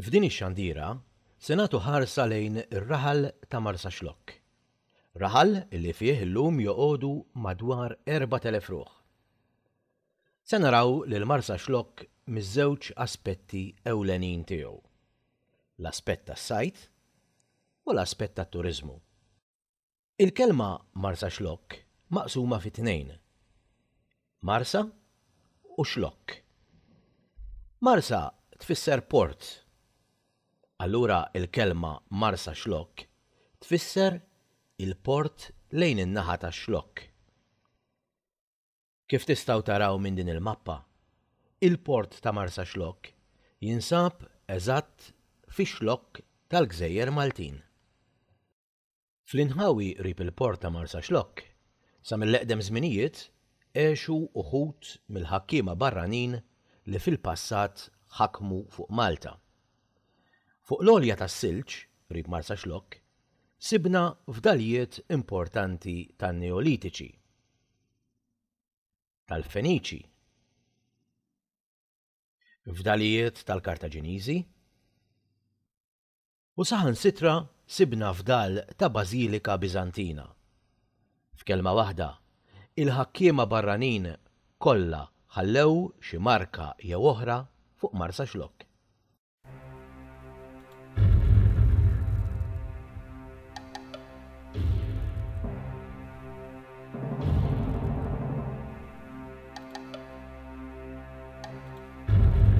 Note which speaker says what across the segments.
Speaker 1: F'din ix-xandira se nagħtu ħarsa lejn ir-raħal ta' Marsaxlokk. Raħal li fih illum joqogħdu madwar 4,000 ruħ. Se naraw lil Marsaxlokk miż-żewġ aspetti ewlenin tiegħu. L-aspett tas-sajd u l-aspett tat-turiżmu. Il-kelma Marsaxlokk maqsuma fi tnejn. Marsa u Xlokk. Marsa tfisser port. Allura il-kelma Marsaxlokk tfisser il-port lejn in-naħa tax-Xlokk. Kif tistgħu taraw minn din il-mappa, il-port ta' Marsaxlokk jinsab eżatt fix-Xlokk tal-Gżejjer Maltin. Fl-inħawi qrib il-port ta' Marsaxlokk, sa mill-eqdem żminijiet għexu uħud mill-ħakkiema barranin li fil-passat ħakmu fuq Malta. Fuq l-għolja tas-Silġ, qrib Marsaxlokk, sibna fdalijiet importanti tan-Neolitiċi, tal-Feniċi, fdalijiet tal-Kartaġiniżi, U saħansitra sibna fdal ta' bażilika Biżantina. F'kelma waħda, il-ħakkiema barranin kollha ħallew xi marka jew oħra fuq Marsaxlokk.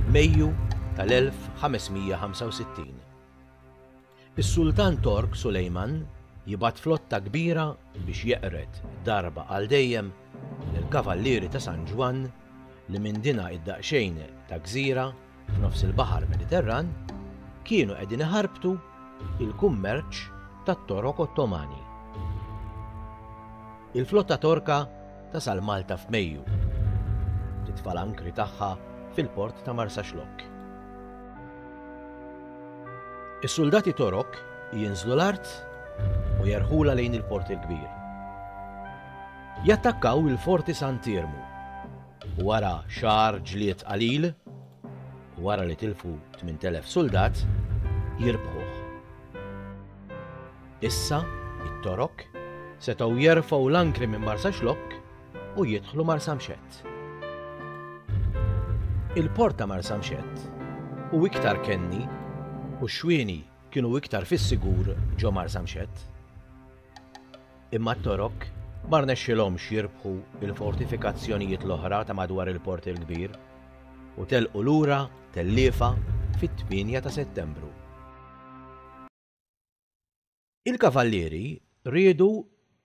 Speaker 1: Mejju tal-1565. Is-Sultan Tork Sulejman jibgħat flotta kbira biex jeqred darba għal dejjem lill-Kavallieri ta' San Ġwann li minn dina id-daqsxejn ta' gżira f'nofs il-Baħar Mediterran kienu qegħdin iħarbtu il-kummerċ tat-Torok Ottomani. Il-flotta Torka tasal Malta f'Mejju. Titfa' l-ankri tagħha fil-port ta' Marsaxlokk. Is-suldati Torok jinżlu l-art u jerħulha lejn il-Port il-Kbir. Jattakkaw il-Forti Sant'Iermu u wara xahar ġlied qalil, u wara li tilfu 8,000 suldat, jirbħuh. Issa, it-Torok setgħu jerfgħu l-ankri minn Marsaxlokk u jidħlu Marsamxett. Il-port ta' Marsamxett hu iktar kenni u x-xwieni kienu iktar fis-sigur ġo Marsamxett. Imma t-Torok ma rnexxilhomx jirbħu l-fortifikazzjonijiet l-oħra ta' madwar il-Port il-Kbir u telqu lura telliefa fit-8 ta' Settembru. Il-Kavallieri riedu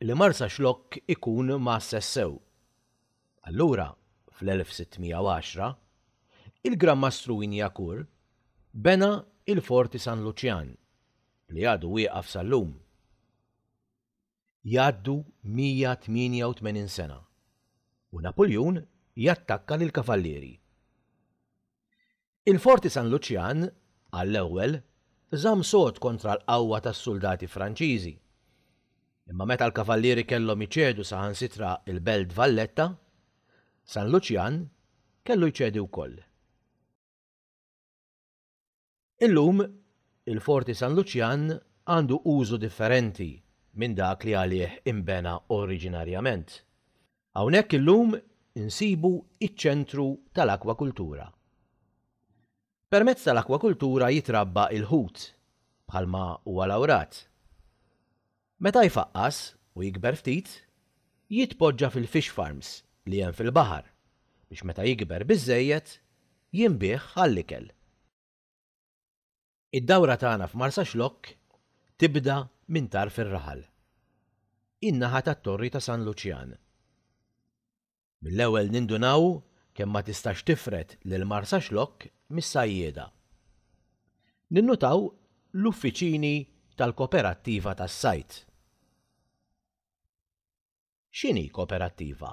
Speaker 1: li Marsaxlokk ikun mgħasses sew. Allura, fl-1610, il-Gran Mastru Wignacourt bena il-Forti San Luċjan li għadu wieqaf sal-lum. Jgħaddu 188 sena u Napuljun jattakka lill-Kavallieri. Il-Forti San Luċjan, għall-ewwel, żamm sod kontra l-qawwa tas-suldati Franċiżi. Imma meta l-Kavallieri kellhom iċedu saħansitra l-Belt Valletta, San Luċjan kellu jċedi wkoll. Illum, il-Forti San Luċjan għandu użu differenti minn dak li għalih inbena oriġinarjament. Hawnhekk illum insibu iċ-ċentru tal-akwakultura. Permezz tal-akwakultura jitrabba il-ħut, bħalma huwa l-awrat. Meta jfaqqas u jikber ftit, jitpoġġa fil-fish farms li hemm fil-baħar biex meta jikber biżżejjed jinbiegħ għall-ikel. Id-dawra tagħna f'Marsaxlokk tibda minn tarf ir-raħal, in-naħa tat-Torri ta' San Luċjan. Mill-ewwel nindunaw kemm ma tistax tifred lil Marsaxlokk mis-sajjieda. Ninnutaw l-uffiċini tal-Koperattiva tas-Sajd. X'inhi koperattiva?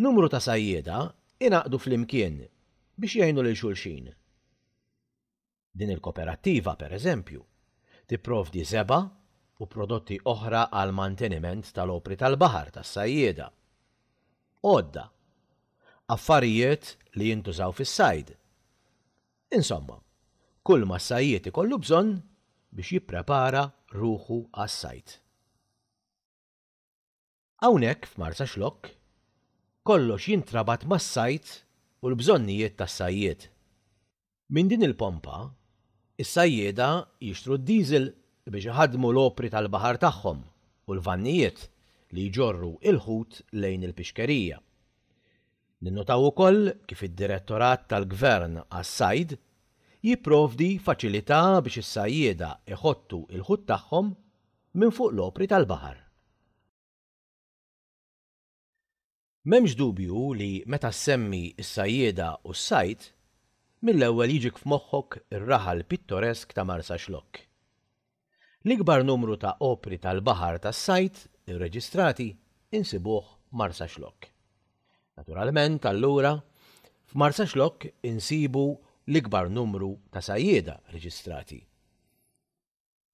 Speaker 1: Numru ta' sajjieda ingħaqdu flimkien biex jgħinu lil xulxin. Din il-koperattiva, per eżempju, tipprovdi żebgħa u prodotti oħra għall-manteniment tal-opri tal-baħar tas-sajjieda, għodda, affarijiet li jintużaw fis-sajd. Insomma, Kull ma s-sajjied ikollu bżonn biex jipprepara ruħu għas-sajd. Hawnhekk f'Marsaxlokk kollox jintrabat mas-sajd u l-bżonnijiet tas-sajjied. Minn din il-pompa, is-sajjieda jixtru d-diesel biex iħaddmu l-opri tal-baħar tagħhom u l-vannijiet li jġorru l-ħut lejn il-pixkerija. Ninnotaw ukoll kif id-Direttorat tal-Gvern għas-Sajd jipprovdi faċilità biex is-sajjieda jħottu l-ħut tagħhom minn fuq l-opri tal-baħar. M'hemmx dubju li meta ssemmi s-sajjieda u s-sajd, mill-ewwel jiġik f'moħħok ir-raħal pittoresk ta' Marsaxlokk. L-ikbar numru ta' opri tal-baħar tas-sajd irreġistrati insibuh Marsaxlokk. Naturalment, allura, f'Marsaxlokk insibu l-ikbar numru ta' sajjieda reġistrati.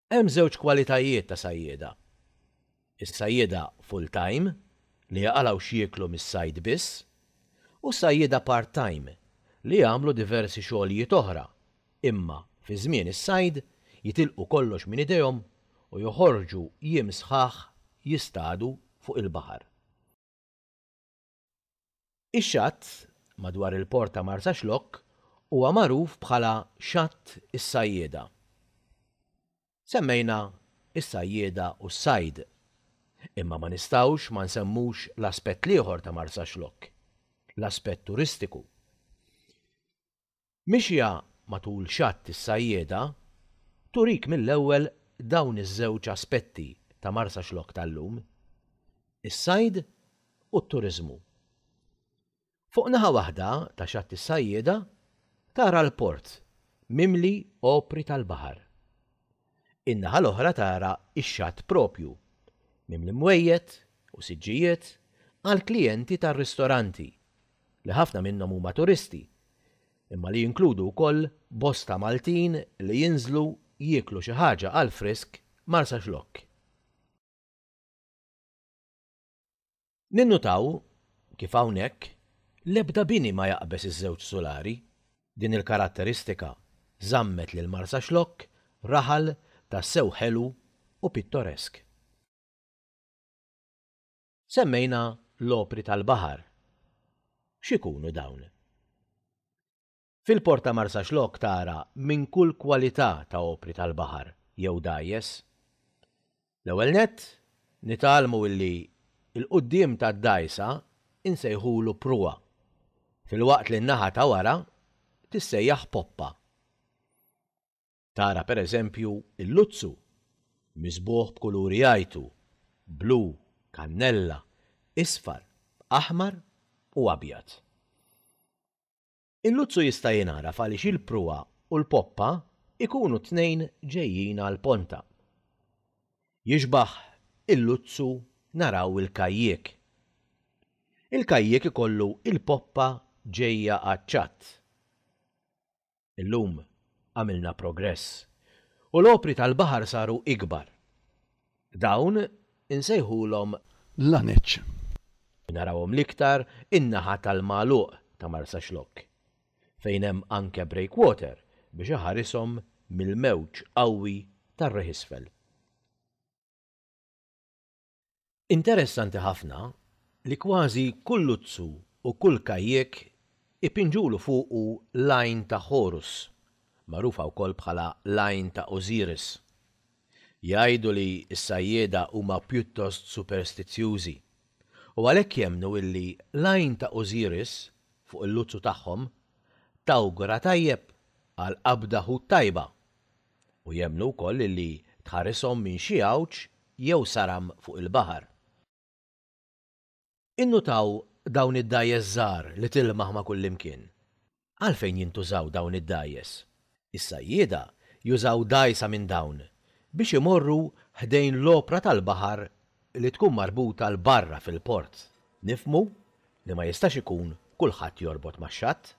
Speaker 1: Hemm żewġ kwalitajiet ta' sajjieda. Is-sajjieda full-time, li jaqalgħu x'jieklu mis-sajd biss, u s-sajjieda part-time, li jagħmlu diversi xogħlijiet oħra, imma fi żmien is-sajd jitilqu kollox minn idejhom u joħorġu jiem sħaħ jistadu fuq il-baħar. Ix-xatt madwar il-port ta' Marsaxlokk huwa magħruf bħala Xatt is-Sajjieda. Semmejna s-sajjieda u s-sajd, imma ma nistgħux ma nsemmux l-aspett l-ieħor ta' Marsaxlokk, l-aspett turistiku. Mixja matul Xatt is-Sajjieda turik mill-ewwel dawn iż-żewġ aspetti ta' Marsaxlokk tal-lum, is-sajd u t-turiżmu. Fuq naħa waħda ta' Xatt is-Sajjieda tara l-port mimli opri tal-baħar. In-naħa l-oħra tara x-xatt proprju, mimli mwejjed u siġġijiet għall-klijenti tar-ristoranti, li ħafna minnhom huma turisti, imma li jinkludu wkoll bosta Maltin li jinżlu jieklu xi ħaġa għall-frisk Marsaxlokk. Ninnutaw kif hawnhekk l-ebda bini ma jaqbeż iż-żewġ sulari. Din il-karatteristika żammet lil Marsaxlokk raħal tassew ħelu u pittoresk. Semmejna l-opri tal-baħar. X'ikunu dawn? Fil-Port ta' Marsaxlokk tara minn kull kwalità ta' opri tal-baħar jew dgħajjes. L-ewwel nett, nitgħallmu illi l-quddiem tad-dgħajsa insejħulu pruwa, filwaqt li n-naħa ta' wara tissejjaħ poppa. Tara per eżempju l-luzzu, miżbugħ b'kuluri jgħajtu, blu, kannella, isfar, aħmar u abjad. Il-luzzu jista' jingħaraf għaliex il-pruwa u l-poppa jkunu t-tnejn ġejjin għall-ponta. Jixbah il-luzzu naraw il-kajjiek. Il-kajjiek ikollu il-poppa ġejja għaċ-ċatt. Illum għamilna progress u l-opri tal-baħar saru ikbar. Dawn insejħulhom
Speaker 2: Laneċ.
Speaker 1: Narawhom l-iktar in-naħa tal-Magħluq ta' Marsaxlokk, fejn hemm anke breakwater biex iħarishom mill-mewġ qawwi tar-riħ isfel. Interessanti ħafna li kważi kull luzzu u kull kajjek ipinġulu fuqu l-għajn ta' Horus, magħrufa wkoll bħala l-għajn ta' Osiris. Jgħidu li s-sajjieda huma pjuttost superstizzjużi u għalhekk jemmnu illi l-għajn ta' Osiris fuq il-luzzu tagħhom tawgura tajjeb għal qabda ħut tajba u jemmnu wkoll illi tħarishom minn xi għawġ jew saram fuq il-baħar. Innutaw dawn id-dgħajjes żgħar li tilmaħ ma' kullimkien. Għalfejn jintużaw dawn id-dgħajjes? Is-sajjieda jużaw dgħajsa minn dawn biex imorru ħdejn l-opra tal-baħar li tkun marbuta 'l barra fil-port. Nifhmu li ma jistax ikun kulħadd jorbot max-xatt.